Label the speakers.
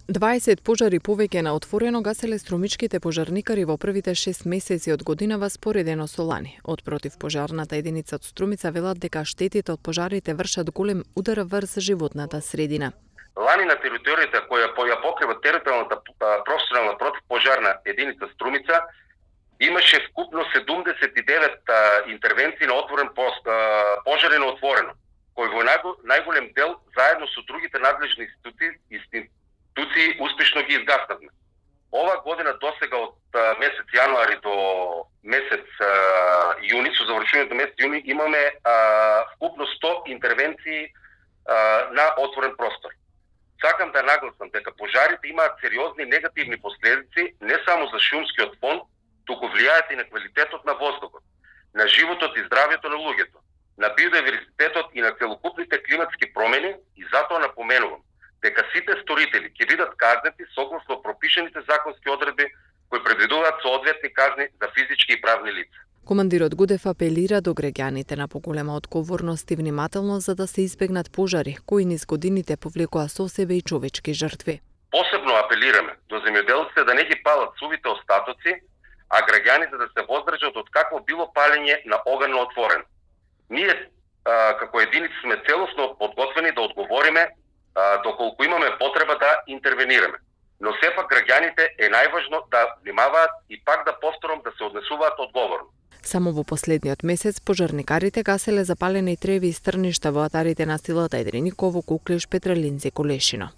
Speaker 1: 20 пожари повеќе на отворено гаселе струмичките пожарникари во првите 6 месеци од годинава споредено со лани. Од противпожарната единица од Струмица велат дека штетите од пожарите вршат голем удар врз животната средина.
Speaker 2: Лани на територијата која ја покрива територијалната професионална противпожарна единица Струмица имаше вкупно 79 интервенции на отворен пожари на отворено, кои во најголем дел заедно со другите надлежни институции успешно ги изгаснавме. Ова година досега од месец јануари до месец јуни, со завршувањето месец јуни, имаме вкупно 100 интервенции на отворен простор. Сакам да нагласам дека пожарите имаат сериозни негативни последици не само за шумскиот фон, туку влијаат и на квалитетот на воздухот, на животот и здравјето на луѓето, на биодиверзитетот и на целокупните климатски промени, и затоа напоменувам дека сите сторители ќе бидат казнети согласно пропишаните законски одредби кои предвидуваат соодветни казни за физички и правни лица.
Speaker 1: Командирот Гудев апелира до граѓаните на поголема одговорност и внимателност за да се избегнат пожари кои низ годините повлекоа со себе и човечки жртви.
Speaker 2: Посебно апелираме до земјоделците да не ги палат сувите остатоци, а граѓаните да се воздржат од какво било палење на оган на отворено. Ние како единици сме целосно подготвени да одговориме доколку имаме потреба да интервенираме. Но сепак граѓаните е најважно да внимаваат и пак да повторам да се однесуваат одговорно.
Speaker 1: Само во последниот месец пожарникарите гаселе запалени треви и стрништа во атарите на Силата, Едриниково, Куклиш, Петрелинци, Колешино.